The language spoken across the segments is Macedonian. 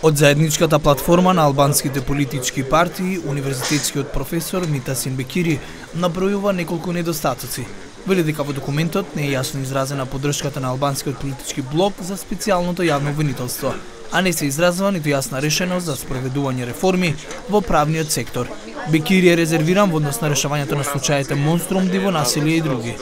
Од заедничката платформа на албанските политички партии, универзитетскиот професор Митасин Бекири набројува неколку недостатоци. Вели дека во документот не е јасно изразена поддршката на албанскиот политички блок за специјалното јавно обвинителство, а не се изразува ниту јасна решеност за спроведување реформи во правниот сектор. Бекири е резервиран во однос на решавањето на случаите Монструм, диво насилие и други.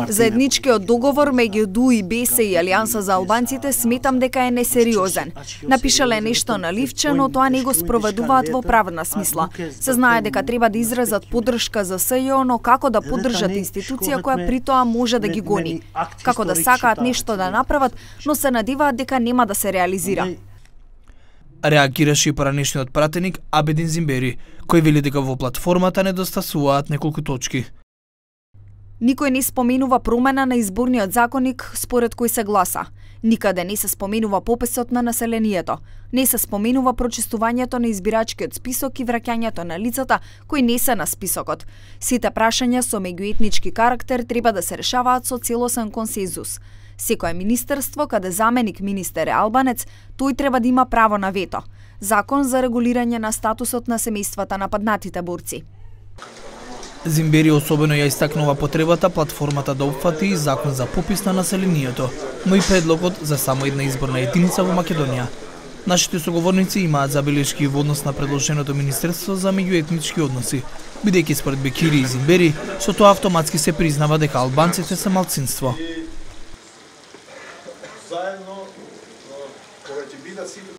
Заедничкиот договор меѓу ДУ и БЕС и Алијанса за албанците сметам дека е несериозен. Напишале нешто на ливче, но тоа не го спроведуваат во правна смисла. Се знае дека треба да изразат поддршка за СЈО, но како да поддржат институција која при тоа може да ги гони? Како да сакаат нешто да направат, но се надеваат дека нема да се реализира? Реагираше и поранешниот пратеник Абедин Зимбери, кој вели дека во платформата недостасуваат неколку точки. Никој не споменува промена на изборниот законник според кој се гласа. Никаде не се споменува пописот на населението. Не се споменува прочистувањето на избирачкиот список и враќањето на лицата кои не се на списокот. Сите прашања со меѓуетнички карактер треба да се решаваат со целосен консензус. Секое министерство, каде заменик министер е албанец, тој треба да има право на вето. Закон за регулирање на статусот на семејствата на паднатите борци. Зимбери особено ја истакнува потребата платформата да опфати закон за попис на населението, но и предлогот за само една изборна единица во Македонија. Нашите соговорници имаат забелешки во однос на предложеното Министерство за меѓуетнички односи, бидејќи според Бекири и Зимбери, со тоа автоматски се признава дека албанците се малцинство.